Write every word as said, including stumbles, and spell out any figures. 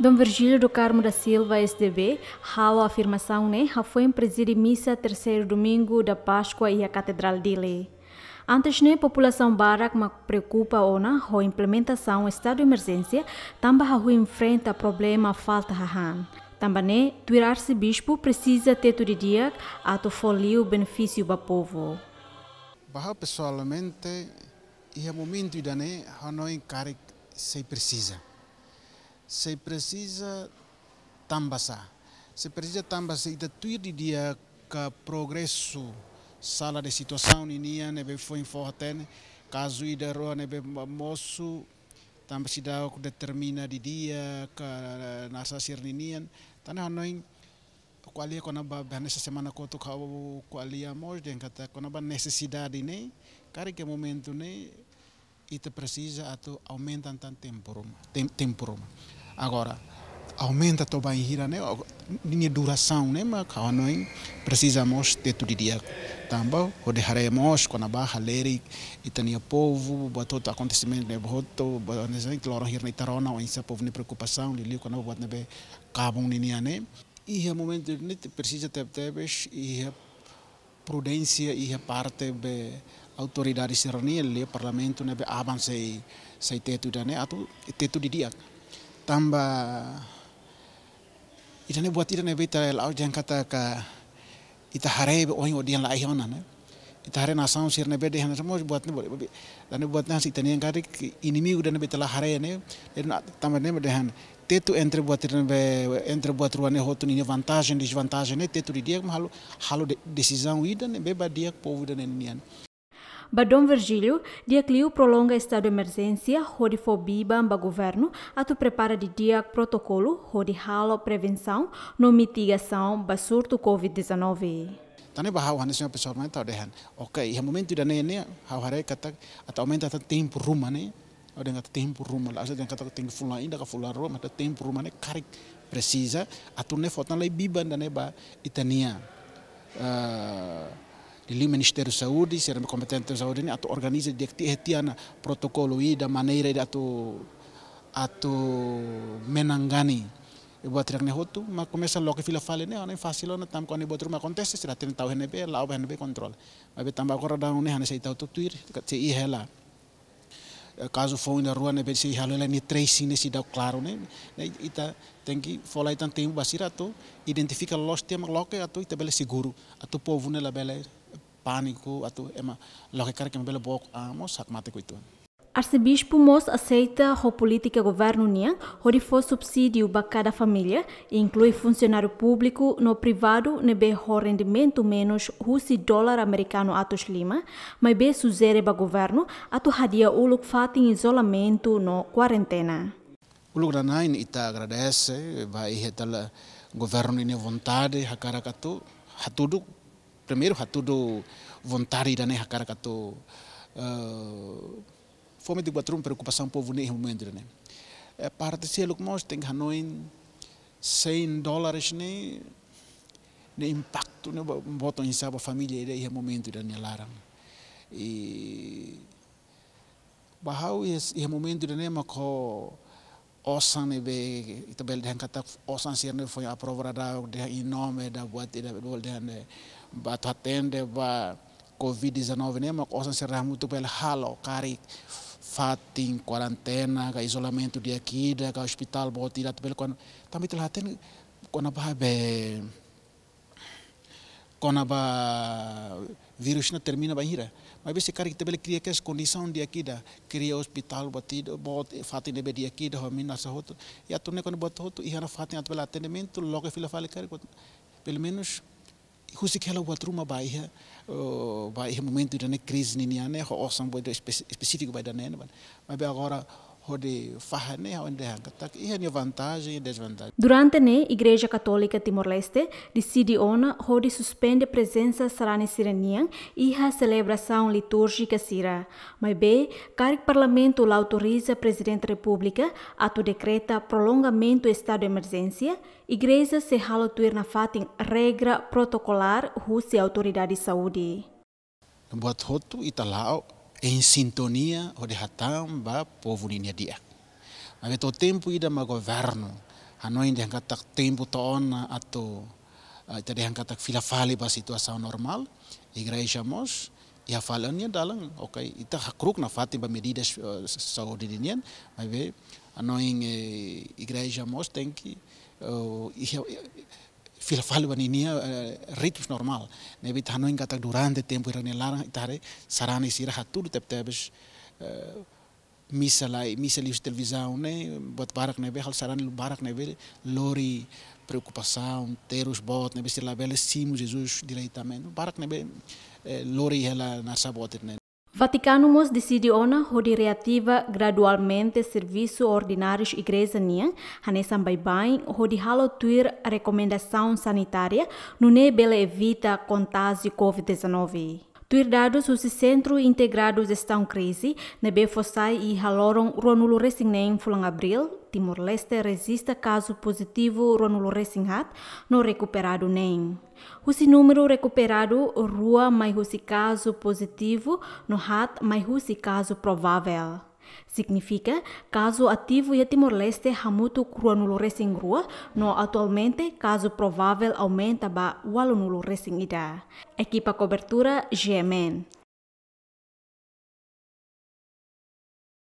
Dom Virgílio do Carmo da Silva, S D B, halo afirmasaun ne'e hafoin prezide misa terseiru domingu da Páskua iha Katedrál Dili. Antes ne'e, populasaun barak mak preokupa ona ho implementasaun estadu emerjénsia, tanba hahú enfrenta problema falta hahán. Tanba ne'e, tuir arsebispu presiza tetu didi'ak atu fó liu benefísiu ba povu. Ba ha'u pesoalmente, iha momentu ida-ne'e, ha'u hanoin karik sei presiza. Sei presiza tanba sá? Sei presiza tanba se ita tuir didi'ak progresu sala de situasaun ninian ne'ebé foin fó hatene, kazu ida rua ne'ebé mo-, mosu, tanba seidauk determina didi'ak, ka nasa sira ninian, tan ne'e hanoin ko'alia kona-ba, be hanesan semana kotuk ha'u ko'alia mós dehan katak kona-ba nesesidade ne'e, karik iha momentu ne'e, ita presiza atu aumenta tan tempu ruma, tem-, tempu ruma. Agora, aumenta to'o bainhira ne'e, o-, ninia durasaun ne'e mak ha'u hanoin presiza mós tetu didi'ak. Tanba, hodi haree mós kona-ba halerik ita-nia povu, buat hotu akontesimentu ne'ebé hotu, buat hanesan ne'e, loron hirak ne'e ita rona oinsá povu nia preokupasaun, liuliu kona-ba buat ne'ebé kabun ninian ne'e. Iha momentu ne'e presiza tebetebes iha prudénsia iha parte be autoridade sira-nian, liuliu Parlamentu ne'ebé aban sei, sei tetu ida-ne'e atu tetu didi'ak. Tanba ida-ne'e buat ida ne'ebé ita la'o dehan katak ita haree be ohin ho dehan la'o ona ne'e. Ita haree nasaun sira ne'ebé dehan mós buat ne'e buat, ida-ne'e buat ne'e hanesan ita-nian karik inimigu ida ne'ebé ita la haree ne'e. Ida-ne'e tanba ne'e dehan tetu entre buat ida ne'ebé, entre buat rua ne'e hotu ninia vantajen, dezvantajen ne'e tetu didi'ak mak halo, halo de-, desizaun ida ne'ebé ba di'ak povu ida-ne'e nian. Ba Dom Virgílio, di'ak liu prolonga estadu emerjénsia hodi fó biban ba governu atu prepara didi'ak protokolu hodi halo prevensaun no mitigasaun ba surtu covid dezanove. Tan ne'e ba ha'u hanesan pesoalmente ha'u dehan, oke, iha momentu ida-ne'e ne'e ha'u haree katak atu aumenta tan tempu ruma ne'e, ha'u dehan katak tempu ruma, la'ós dehan katak tenke fulan ida ka fulan rua, mas tan tempu ruma ne'e karik presiza, atu nune'e fó tan lai biban ida-ne'e ba ita-nia, eh, liuliu Ministériu Saúde, sira ne'ebé kompetente Saúde ne'e atu organiza di'ak tiha, tiha ona protokolu ida, maneira ida atu, atu menangani buat hirak ne'e hotu, mas komesa loke fila fali ne'e, ne'e fasil ona tanba kuandu buat ruma akontese, sira hatene tau iha ne'ebé, la'o ba iha ne'ebé kontrola. Maibé tanba agora daudaun ne'e hanesan ita hotu tuir, katak sei iha hela. Eh, kazu foun ida rua ne'ebé sei halo hela nia tracing ne'e seidauk klaru ne'e, ne'e ita tenke fó lai tan tempu ba sira atu identifika loos tiha mak loke atu ita bele seguru, atu povu ne'e labele pániku, atu ema loke karik ema bele book an mós hakmatek uitoan. Arsebispu mós aseita ho polítika governu nian hodi fó subsídiu ba kada família, inklui funsionáriu públiku no privadu ne'ebé ho rendimentu menus husi dolar amerikanu atus lima, maibé sujere ba governu atu hadi'a uluk fatin izolamentu no kuarentena. Uluk nanain ita agradese ba iha ita-nia governu ninia vontade hakarak atu hatudu, primeiru hatudu vontade ida-ne'e hakarak atu, eh, fó metin buat ruma preokupasaun povu ne'e iha momentu ida-ne'e. Eh, parte seluk mós tenke hanoin cem dólares ne'e, ne'e impaktu ne'e ba, boot oinsá ba família ida iha momentu ida-ne'e nia laran. I ba ha'u iha, iha momentu ida-ne'e mak ho osan ne'ebé ita bele dehan katak osan sira ne'e foin aprova daudaun dehan em nome da buat ida bele dehan ne'e ba atu atende ba covid dezanove ne'e mak osan sira hamutuk bele halo karik fatin kuarentena ka izolamentu di'ak ida ka ospitál boot ida atu bele kon, tanba ita la hatene kona-ba be kona-ba vírus ne'e termina bainhira. Maibé se karik ita bele kria kedas kondisaun di'ak ida, kria ospitál boot ida, boot fatin ne'ebé di'ak ida, ho mina sira hotu. I atu nune'e kona-ba buat hotu, iha ona fatin atu bele atendimentu, loke fila fali karik, pelumenus, husik hela buat ruma ba iha, eh, ba iha momentu ida-ne'e krize ninian ne'e, ho osan boot ida espe-, espesífiku ba ida-ne'e, ne'e ba. Maibé agora, hodi fahe ne'e, ha'u dehan katak iha nia vantajen i dezvantajen. Durante ne'e, Igreja Katólika Timor-Leste deside ona hodi suspende prezensa sarani sira-nian iha selebrasaun litúrjika sira. Maibé, karik Parlamentu la autoriza Prezidente Repúblika atu dekreta prolongamentu estadu emerjénsia, Igreja sei halo tuir nafatin regra protokolár husi autoridade saúde. Buat hotu ita la'o em sintonia hodi hatán ba povu ninia di'ak. Maibé to'o tempu ida mak governu hanoin dehan katak tempu to'o ona atu, ah, ita dehan katak fila fali ba situasaun normál. Igreja mós iha fali nia dalan, oke, ita hakru'uk nafatin ba medidas, eh, saúde ninian, maibé hanoin, eh, igreja mós tenke, eh, iha, fila fali ba ninia, eh, ritmus normál. Ne'ebé ita hanoin katak durante tempu hira-ne'e laran, ita haree sarani sira hatudu tebetebes, eh, misa lai, misa liuhusi televizaun ne'e, buat barak ne'ebé, halo sarani barak ne'ebé lori preokupasaun, terus boot ne'ebé sira labele simu Jesus diretamente. Barak ne'ebé, eh, lori hela narsa boot ne'e. Vatikanu mós deside ona hodi reativa gradualmente servisu ordinárius igreja nian, hanesan baibain, hodi halo tuir rekomendasaun sanitária, nune'e bele evita kontájiu covid dezanove. Tuir dadus husi Sentru Integradu Jestaun Krize, ne'ebé fó sai iha loron ruanulu resin neen fulan Abríl, Timor-Leste rejista kazu pozitivu ruanulu resin haat no rekuperadu neen. Husi númeru rekuperadu, rua mai husi kazu pozitivu no haat mai husi kazu provável. Signifika, kazu ativu iha Timor-Leste hamutuk ruanulu resin rua, no atualmente kazu provável aumenta ba ualunulu resin ida. Ekipa kobertura G M N.